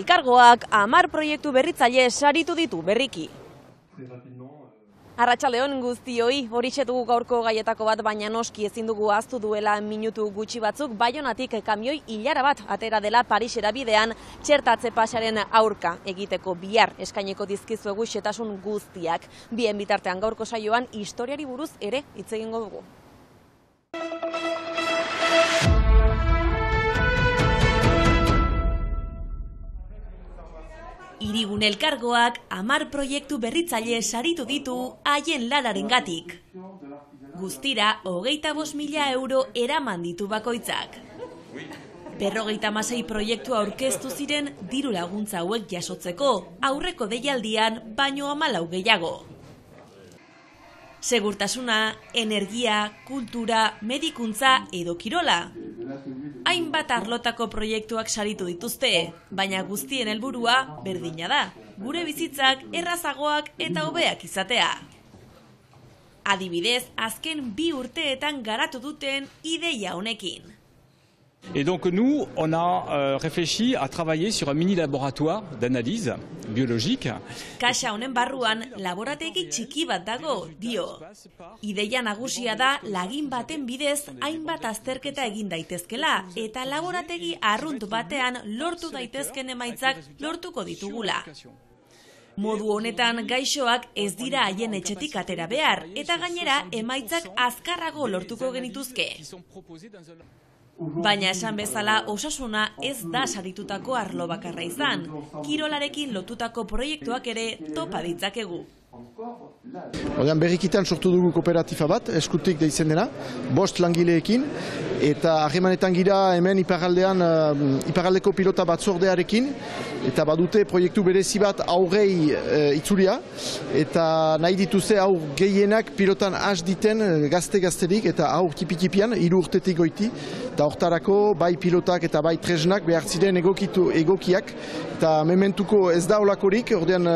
Elkargoak 10 proiektu berritzaile saritu ditu berriki. Arratsaldeon guztioi, horixe dugu gaurko gaietako bat, baina noski ezin dugu ahaztu duela minutu gutxi batzuk Baionatik kamioi ilara bat atera dela Parisera bidean txertatze pasaren aurka egiteko bihar eskaineko dizkizuegu xehetasun guztiak. Bien bitartean gaurko saioan historiari buruz ere hitz egingo dugu. Hirigune Elkargoak 10 proiektu berritzaile saritu ditu haien lanarengatik. Guztira 25.000 euro eraman ditu bakoitzak. 56 proiektu aurkeztu ziren diru laguntza hauek jasotzeko, aurreko deialdian baino 14 gehiago. Segurtasuna, energia, kultura, medikuntza edo kirola. Hainbat arlotako proiektuak saritu dituzte, baina guztien helburua berdina da, gure bizitzak errazagoak eta hobeak izatea. Adibidez, azken 2 urteetan garatu duten ideia honekin. Et donc nous, on a réfléchi à travailler sur un mini laboratoire d'analyse biologique. Kaxa honen barruan laborategi txiki bat dago, dio. Ideia nagusia da lagin baten bidez hainbat azterketa egin daitezkela eta laborategi arrunt batean lortu daitezken emaitzak lortuko ditugula. Modu honetan gaixoak ez dira haien etxetik atera behar eta gainera emaitzak azkarrago lortuko genituzke. Baina esan bezala osasuna ez da saritutako arlo bakarra izan. Kirolarekin lotutako proiektuak ere topa ditzakegu. Ordean berrikitan sortu dugu kooperatifa bat, eskutik deitzen dena, 5 langileekin, eta harremanetan gira hemen iparraldeko pilota batzordearekin, eta badute proiektu berezi bat aurrei itzulia, eta nahi dituzte aur gehienak pilotan has diten gazte-gazterik, eta aur tipi-tipian, 3 urtetik goiti, eta hortarako bai pilotak eta bai tresnak behar ziren egokiak, eta mementuko ez da olakorik, ordean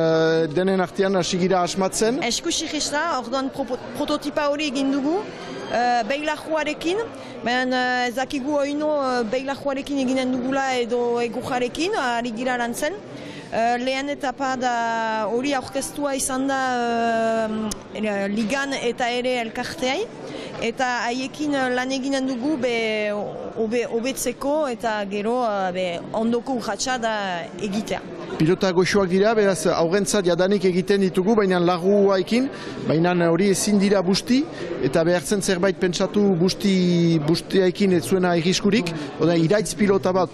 denen artean hasigira asmatzen. Eskusirista, orduan prototipa hori egin dugu, beilajuarekin, baina ez dakigu oino beilajuarekin eginen dugula edo egujarekin, ari gira lantzen. Lehen etapa da hori aurkeztua izan da ligan eta ere elkarteai, eta haiekin lan eginen dugu hobetzeko eta gero ondoko urratsa da egitea. Pilota goxoak dira, beraz aurrentzat jadanik egiten ditugu, baina laguaekin, baina hori ezin dira busti, eta behartzen zerbait pentsatu bustiaekin ez zuena irriskurik, iraitz pilota bat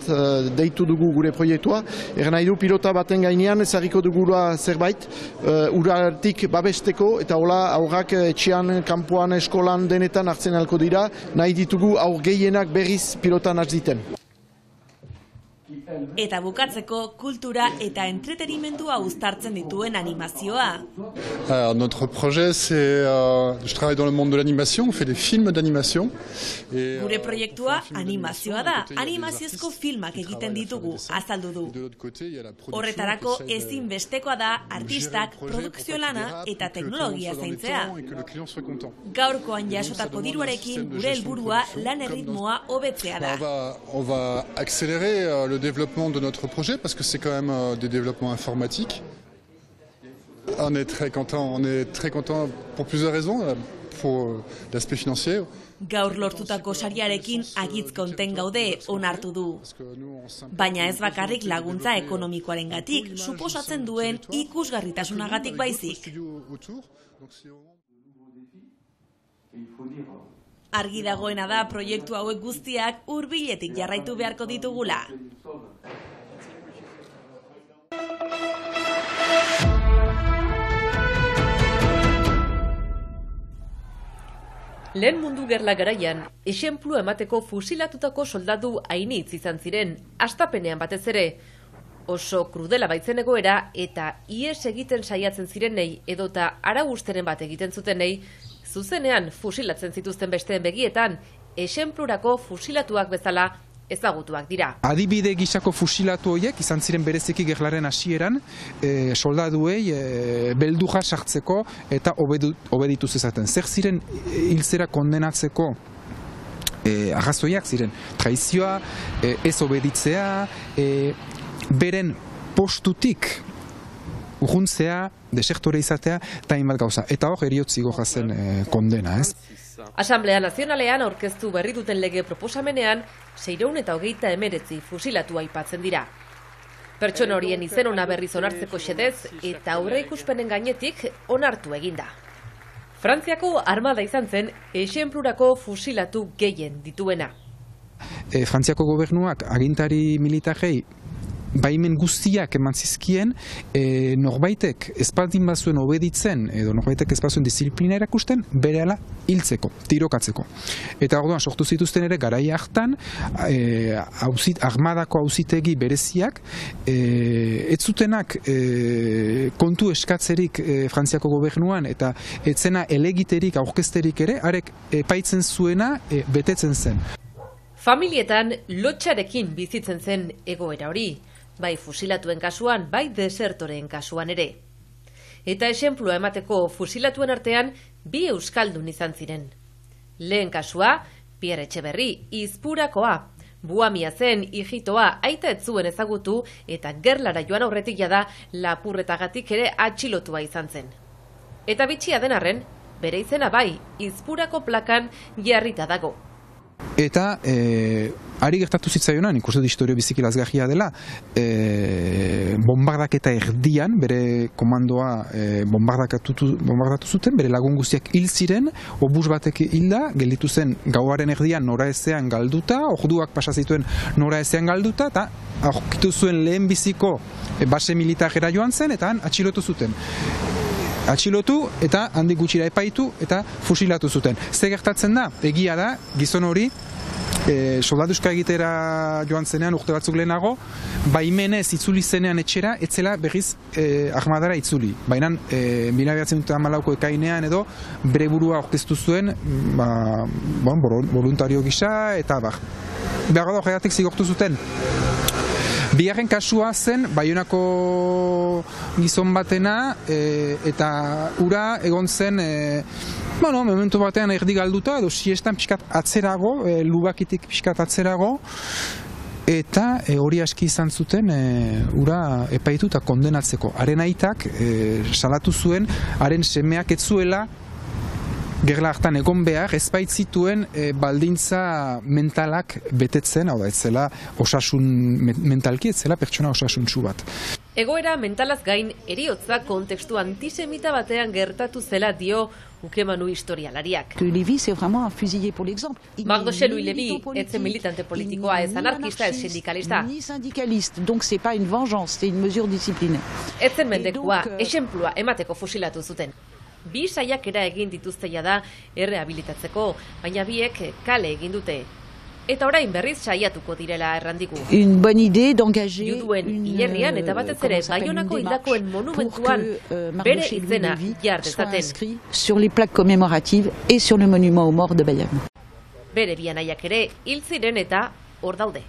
deitu dugu gure proiektua, nahi du pilota baten gainean ezarriko dugula zerbait, uratik babesteko, eta hola aurrak etxean, kanpoan, eskolan denetan hartzen alko dira, nahi ditugu aur gehienak berriz pilotan hartziten. Eta bukatzeko kultura eta entretenimendua uztartzen dituen animazioa. Notre projet, c'est... je travaille dans le monde de l'animation, on fait des films d'animation. Gure proiektua animazioa da, animaziozko filmak egiten ditugu, azaldu du. Horretarako ezinbestekoa da artistak, produkzio lana eta teknologia zaintzea. Gaurkoan jasotako diruarekin gure helburua lan erritmoa hobetzea da. On va accélérer le développement de notre projet parce que c'est quand même des développements informatiques. On est très content pour plusieurs raisons, pour l'aspect financier. Gaur lortutako sariarekin agitz konten gaude onartu du. Baina ez bakarrik laguntza ekonomikoarengatik, suposatzen duen ikusgarritasunagatik baizik. Argi dagoena da proiektu hauek guztiak hurbiletik jarraitu beharko ditugula. Lehen Mundu Gerla garaian, esenplua emateko fusilatutako soldadu hainitz izan ziren, hastapenean batez ere. Oso krudela baitzen egoera eta ihes egiten saiatzen zirenei edota arau-usteren bat egiten zutenei, zuzenean fusilatzen zituzten besteen begietan, esenplurako fusilatuak bezala ezagutuak dira. Adibide gisako fusilatu horiek izan ziren bereziki gerlaren hasieran, soldaduei beldurra sartzeko eta obeditu zezaten. Zer ziren hiltzera kondenatzeko arrazoiak ziren traizioa, ez obeditzea, beren postutik urruntzea, desektore izatea, eta hainbat gauza. Eta hor, eriotzi gojazen kondena, ez? Asamblea Nazionalean aurkeztu berri duten lege proposamenean, 629 fusilatu aipatzen dira. Pertsona horien izen ona berriz onartzeko xedez eta aurreikuspenen gainetik onartu eginda. Frantziako armada izan zen esenplurako fusilatu gehien dituena. Frantziako gobernuak agintari militarrei baimen guztiak eman zizkien, norbaitek espaldin bazuen obeditzen, edo norbaitek ez bazuen disiplina erakusten, berehala hiltzeko, tirokatzeko. Eta orduan sortu zituzten ere garai hartan, armadako auzitegi bereziak, ez zutenak kontu eskatzerik Frantziako gobernuan, eta etzena elegiterik, aurkezterik ere, arek epaitzen zuena betetzen zen. Familietan lotxarekin bizitzen zen egoera hori, bai fusilatuen kasuan, bai desertoreen kasuan ere. Eta esenplua emateko fusilatuen artean, bi euskaldun izan ziren. Lehen kasua, Pierre Etxeberri, Izpurakoa. Buamia zen, hijitoa, aita ez zuen ezagutu, eta gerlara joan aurretik jada lapurretagatik ere atxilotua izan zen. Eta bitxia den arren, bere izena bai, Izpurako plakan jarrita dago. Eta ari gertatu zitzaionan, ikusten dut historio biziki lazgarria dela, bombardaketa erdian, bere komandoa bombardatu zuten, bere lagun guztiak hil ziren, obus batek hilda, gelditu zen gauaren erdian noraezean galduta, orduak pasa zituen noraezean galduta, eta aurkitu zuen lehen biziko base militarera joan zen, eta han atxilotu zuten. Atxilotu eta handik gutxira epaitu eta fusilatu zuten. Ze gertatzen da? Egia da, gizon hori, soldaduska egitera joan zenean urte batzuk lehenago, baimenez itzuli zenean etxera, etzela berriz armadara itzuli. Baina 1914ko ekainean edo bere burua aurkeztu zuen voluntario gisa eta behar da horregatik zigortu zuten. Bigarren kasua zen, Baionako gizon batena, eta ura egon zen, momentu batean erdi galduta, edo siestan pixkat atzerago, lubakitik pixkat atzerago, eta hori aski izan zuten ura epaitu eta kondenatzeko. Haren aitak salatu zuen, haren semeak ez zuela, gerla hartan egon behar, ez baitzituen baldintza mentalak betetzen, hau da, ez zela osasun mentalki, ez zela pertsona osasuntsu bat. Egoera mentalaz gain, eriotza kontekstu antisemita batean gertatu zela dio ukemanu historialariak. Mardoche Louis Lévy, ez zen militante politikoa, ez anarkista, ez sindikalista. Ez zen mendekua, esenplua emateko fusilatu zuten. Bi saiakera egin dituzte jada errehabilitatzeko, baina biek kale egin dute. Eta orain berriz saiatuko direla errandiku. Juduen hilerrian eta batez ere Baionako hildakoen monumentuan bere izena jar dezaten. Bere bi anaiak ere hil ziren eta hor daude.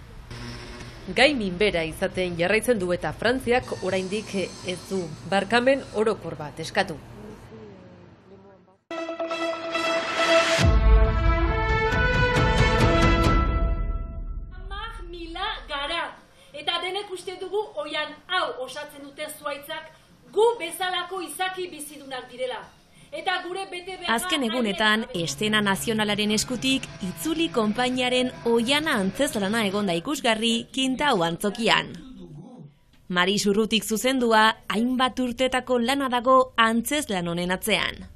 Gai minbera izaten jarraitzen du eta Frantziak oraindik ez du barkamen orokor bat eskatu. Eta denek uste dugu oian hau osatzen duten zuaitzak gu bezalako izaki bizidunak direla. Eta gure bete behar... Azken egunetan, Eszena Nazionalaren eskutik itzuli konpainiaren oiana antzezlana egonda ikusgarri Kintau antzokian. Maris Urrutik zuzendua, hainbat urtetako lana dago antzezlan honen atzean.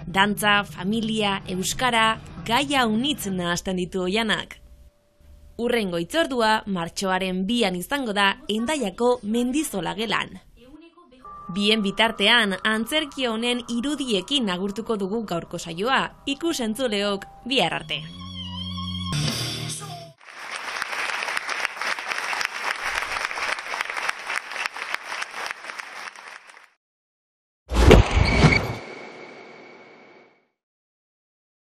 Dantza, familia, euskara, gaia unitz nahazten ditu oianak. Urrengo hitzordua martxoaren 2an izango da Hendaiako Mendizola gelan. Bien bitartean, antzerki honen irudiekin agurtuko dugu gaurko saioa, ikus-entzuleok bihar arte.